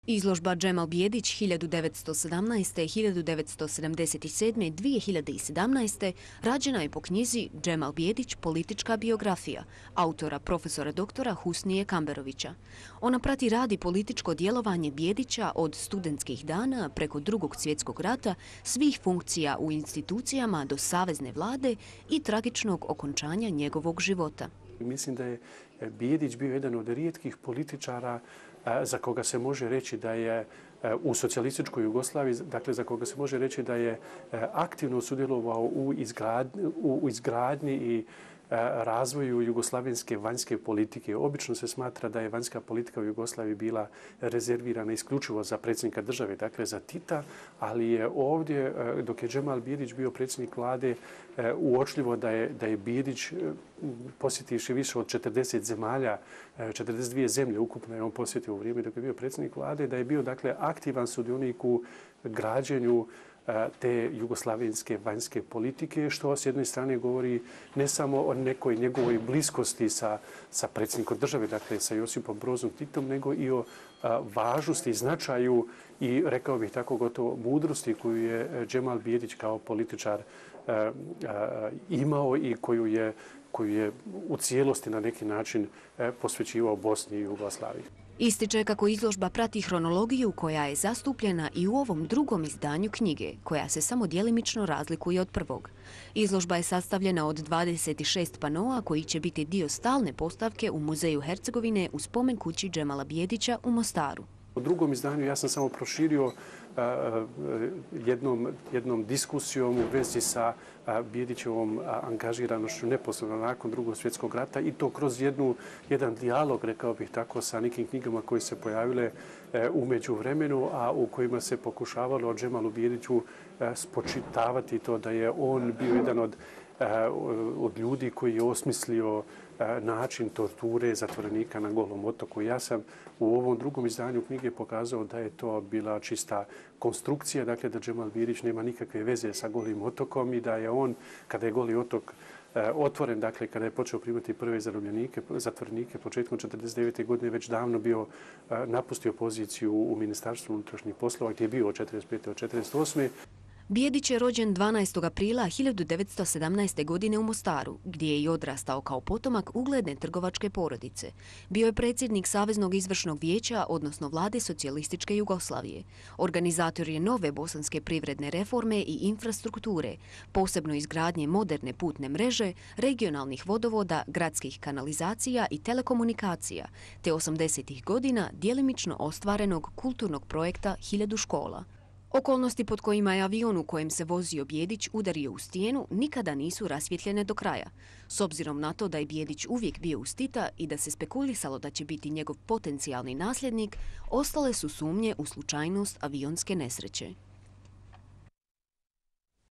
Izložba Džemal Bijedić 1917. 1977. 2017. rađena je po knjizi Džemal Bijedić politička biografija autora profesora doktora Husnije Kamberovića. Ona prati rad i političko djelovanje Bijedića od studentskih dana preko Drugog svjetskog rata, svih funkcija u institucijama do savezne vlade i tragičnog okončanja njegovog života. Mislim da je Bijedić bio jedan od rijetkih političara za koga se može reći da je u socijalističkoj Jugoslaviji, dakle za koga se može reći da je aktivno sudjelovao u izgradnji i razvoju jugoslavenske vanjske politike. Obično se smatra da je vanjska politika u Jugoslaviji bila rezervirana isključivo za predsjednika države, dakle za Tita, ali je ovdje, dok je Džemal Bijedić bio predsjednik vlade, uočljivo da je Bijedić, posjetivši više od 40 zemalja, 42 zemlje ukupno je on posjetio u vrijeme dok je bio predsjednik vlade, da je bio dakle aktivan sudionik u građenju te jugoslavenske vanjske politike, što s jedne strane govori ne samo o nekoj njegovoj bliskosti sa predsjednikom države, dakle sa Josipom Brozom Titom, nego i o važnosti, značaju i, rekao bih tako, gotovo mudrosti koju je Džemal Bijedić kao političar imao i koju je u cijelosti na neki način posvećivao Bosni i Jugoslaviji. Ističe kako izložba prati hronologiju koja je zastupljena i u ovom drugom izdanju knjige, koja se samo djelimično razlikuje od prvog. Izložba je sastavljena od 26 panoa koji će biti dio stalne postavke u Muzeju Hercegovine u spomen kući Džemala Bijedića u Mostaru. U drugom izdanju ja sam samo proširio jednom diskusijom u vezi sa Bijedićevom angažiranošću neposredno nakon Drugog svjetskog rata i to kroz jedan dijalog, rekao bih tako, sa nekim knjigama koje se pojavile u međuvremenu, a u kojima se pokušavalo Džemalu Bijediću spočitavati to da je on bio jedan od ljudi koji je osmislio način torture zatvorenika na Golom otoku. Ja sam u ovom drugom izdanju knjige pokazao da je to bila čista konstrukcija, dakle da Džemal Bijedić nema nikakve veze sa Golim otokom i da je on, kada je Goli otok otvoren, dakle kada je počeo primati prve zatvorenike početkom 1949. godine, već davno bio napustio poziciju u Ministarstvu unutrašnjih poslova gdje je bio od 1945. do 1948. Bijedić je rođen 12. aprila 1917. godine u Mostaru, gdje je i odrastao kao potomak ugledne trgovačke porodice. Bio je predsjednik Saveznog izvršnog vijeća, odnosno vlade socijalističke Jugoslavije. Organizator je nove bosanske privredne reforme i infrastrukture, posebno izgradnje moderne putne mreže, regionalnih vodovoda, gradskih kanalizacija i telekomunikacija, te 80. godina djelimično ostvarenog kulturnog projekta 1000 škola. Okolnosti pod kojima je avion u kojem se vozio Bijedić udario u stijenu nikada nisu rasvjetljene do kraja. S obzirom na to da je Bijedić uvijek bio uz Tita i da se spekulisalo da će biti njegov potencijalni nasljednik, ostale su sumnje u slučajnost avionske nesreće.